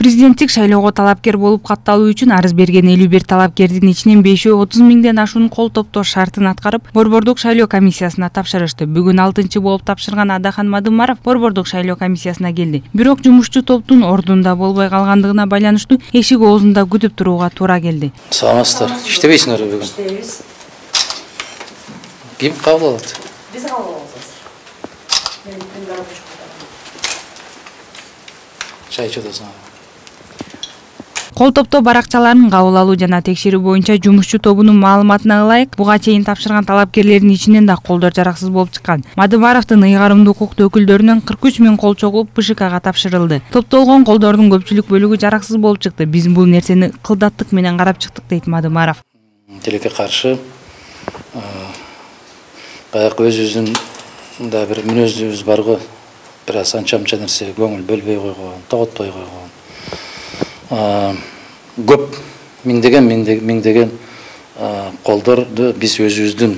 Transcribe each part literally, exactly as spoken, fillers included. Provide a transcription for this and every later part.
Президенттик шайлоого талапкер болуп катталуу үчүн арыз берген элүү бир талапкердин ичинен бешөө отуз миңден ашуун кол топтоо шартын аткарып, Борбордук шайлоо комиссиясына тапшырышты. Бүгүн алтынчы болуп тапшырган Адахан Мадымаров Борбордук шайлоо комиссиясына келди. Бирок жумушчу топтун ордунда болбой калгандыгына байланыштуу эшик оозунда күтүп турууга туура келди. Саламатсыздар. Иштебейсиңерби бүгүн? Иштейбиз. Ким кабыл алат? Биз кабыл алабыз. Мен күндө рабочий. Чай ичесиң. Кол топтоо баракчаларын кабыл алуу жана текшерүү боюнча жумушчу тобунун маалыматына ылайык, буга чейин тапшырган талапкерлердин ичинен да колдор жараксыз болуп чыккан. Мадымаровдун ыйгарымдуу укуктуу өкүлдөрүнөн кырк үч миң кол чогулуп БШКга тапшырылды. Топтолгон колдордун көпчүлүк бөлүгү жараксыз болуп чыкты. Биз бул нерсени кылдаттык менен карап чыктык, дейт Мадымаров. Тилекке каршы баягы өзүбүздүн да бир мүнөзүбүз бар го. Бир аз анча-мынча нерсе көңүл бөлбөй койгон, тоготпой койгон. Көп миңдеген миңдеген колдорду биз өзүбүздүн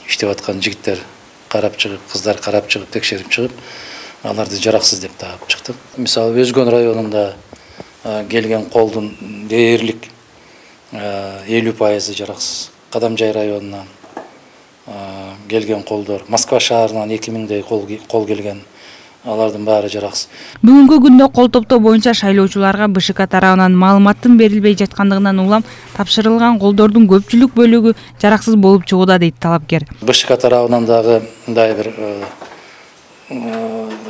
иштеп аткан жигиттер карап чыгып, кыздар карап чыгып, текшерип чыгып, аларды жараксыз деп таап чыктык. Мисалы, Өзгөн районунда келген колдун дээрлик элүү пайызы жараксыз. Кадамжай районунан келген колдор, Москва шаарынан эки миңдей кол келген. Алардын баары жараксыз. Бүгүнкү күндө кол топтоо боюнча шайлоочуларга БШК тарабынан маалыматтын берилбей жаткандыгынан улам тапшырылган колдордун көпчүлүк бөлүгү жараксыз болуп чыгууда, дейт талапкер. БШК тарабынан дагы мындай бир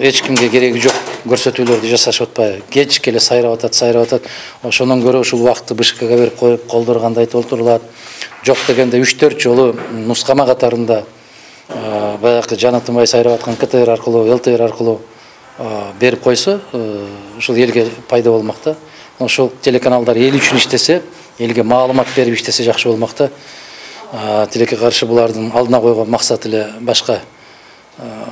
эч кимге кереги жок көрсөтүүлөрдү жасашып атпайбы. Кеч эле сайрап атат, сайрап атат. Ошондон көрө ушул убакытты БШКга берип коюп, колдор кандай толтурулат. Жок дегенде үч төрт жолу нускама катарында баягы жаны тынбай сайрап аткан КТР аркылуу, ЛТР аркылуу берип койсо, ушул элге пайда болмок да. Ошол телеканалдар эл үчүн иштесе, элге маалымат берип иштесе жакшы болмок да. Тилекке каршы булардын алдына койгон максаты эле башка.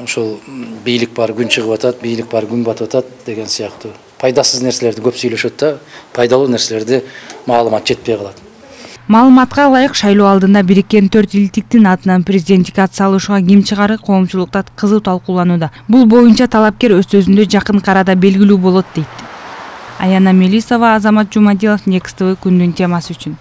Ошол бийлик бар, күн чыгып атат, бийлик бар, күн батып атат деген сыяктуу пайдасыз нерселерди көп сүйлөшөт да, пайдалуу нерселерди маалымат жетпей калат. Маалыматка ылайык, шайлоо алдында бириккен төрт илтиктин атынан президенттик ат салышууга ким чыгары коомчулукта кызуу талкууланууда. Бул боюнча талапкер өз сөзүндө жакын арада белгилүү болот, дейт. Аяна Мелисова, Азамат Жумадилов, Next тэ вэ күндүн темасы үчүн.